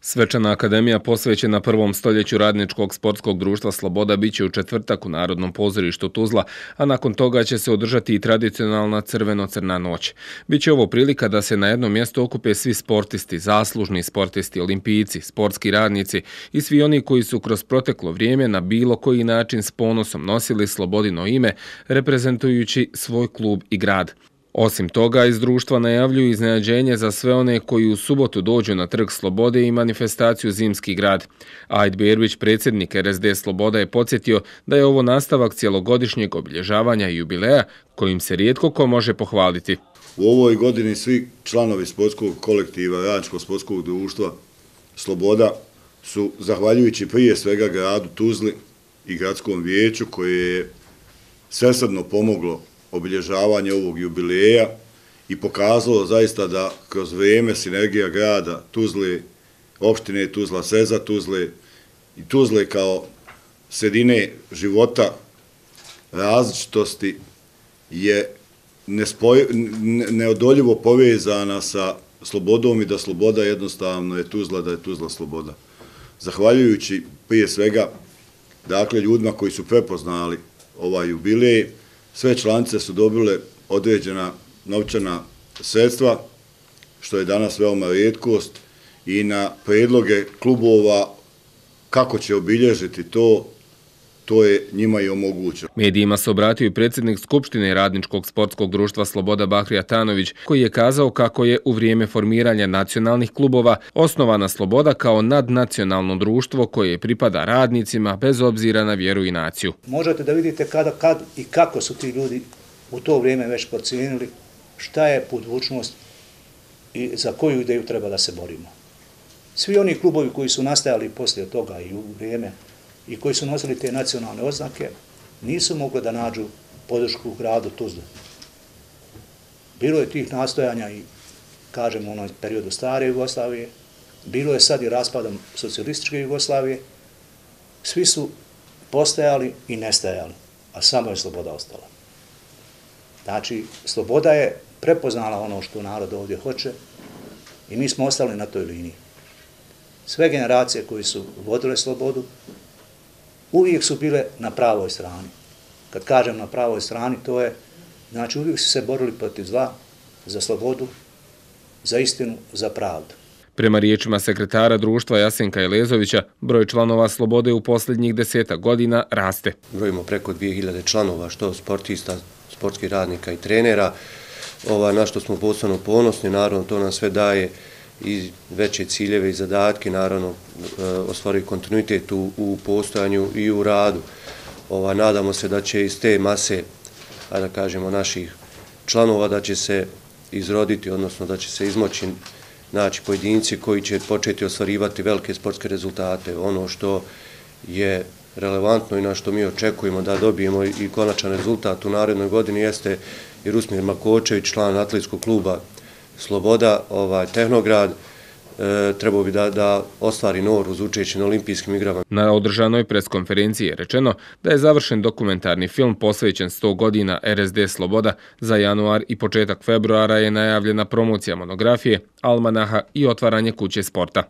Svečana akademija posvećena prvom stoljeću radničkog sportskog društva Sloboda biće u četvrtak u Narodnom pozorištu Tuzla, a nakon toga će se održati i tradicionalna crveno-crna noć. Biće ovo prilika da se na jednom mjestu okupe svi sportisti, zaslužni sportisti, olimpijci, sportski radnici i svi oni koji su kroz proteklo vrijeme na bilo koji način s ponosom nosili Slobodino ime, reprezentujući svoj klub i grad. Osim toga, iz društva najavljuju iznenađenje za sve one koji u subotu dođu na Trg Slobode i manifestaciju Zimski grad. Ajd Berbić, predsjednik RSD Sloboda, je podsjetio da je ovo nastavak cjelogodišnjeg obilježavanja i jubileja kojim se rijetko ko može pohvaliti. U ovoj godini svi članovi sportskog kolektiva Radničkog sportskog društva Sloboda su, zahvaljujući prije svega gradu Tuzli i gradskom vijeću koje je svesrdno pomoglo obilježavanje ovog jubileja i pokazalo zaista da kroz vrijeme sinergija grada Tuzle, opštine Tuzla, seza Tuzle i Tuzle kao sredine života različitosti je neodoljivo povezana sa Slobodom i da Sloboda jednostavno je Tuzla, da je Tuzla Sloboda. Zahvaljujući prije svega dakle ljudima koji su prepoznali ovaj jubilej, sve članice su dobile određena novčana sredstva, što je danas veoma rijetkost, i na predloge klubova kako će obilježiti to je njima i omogućeno. Medijima se obratio i predsjednik Skupštine Radničkog sportskog društva Sloboda Bahrija Tanović, koji je kazao kako je u vrijeme formiranja nacionalnih klubova osnovana Sloboda kao nadnacionalno društvo koje pripada radnicima bez obzira na vjeru i naciju. Možete da vidite kad i kako su ti ljudi u to vrijeme već procijenili šta je budućnost i za koju ideju treba da se borimo. Svi oni klubovi koji su nastajali poslije toga i u vrijeme i koji su nosili te nacionalne oznake, nisu mogli da nađu podršku u gradu Tuzli. Bilo je tih nastojanja i, kažemo, u onom periodu stare Jugoslavije, bilo je sad i raspadom socijalističke Jugoslavije, svi su postajali i nestajali, a samo je Sloboda ostala. Znači, Sloboda je prepoznala ono što narod ovdje hoće i mi smo ostali na toj liniji. Sve generacije koji su vodile Slobodu uvijek su bile na pravoj strani. Kad kažem na pravoj strani, to je, znači uvijek su se borili protiv zla, za slobodu, za istinu, za pravdu. Prema riječima sekretara društva Jasenka Elezovića, broj članova Slobode u posljednjih 10 godina raste. Brojimo preko 2000 članova, što sportista, sportskih radnika i trenera, na što smo posebno ponosni, naravno to nam sve daje i veće ciljeve i zadatke, naravno ostvariti kontinuitet u postojanju i u radu. Nadamo se da će iz te mase, da kažemo, naših članova, da će se izroditi, odnosno da će se izmoći naći pojedinci koji će početi ostvarivati velike sportske rezultate. Ono što je relevantno i na što mi očekujemo da dobijemo i konačan rezultat u narednoj godini jeste i Rusmir Makočević, član atletskog kluba Sloboda, Tehnograd, trebao bi da ostvari NOR uz učešće na olimpijskim igrama. Na održanoj preskonferenciji je rečeno da je završen dokumentarni film posvećen 100 godina RSD Sloboda. Za januar i početak februara je najavljena promocija monografije, almanaha i otvaranje kuće sporta.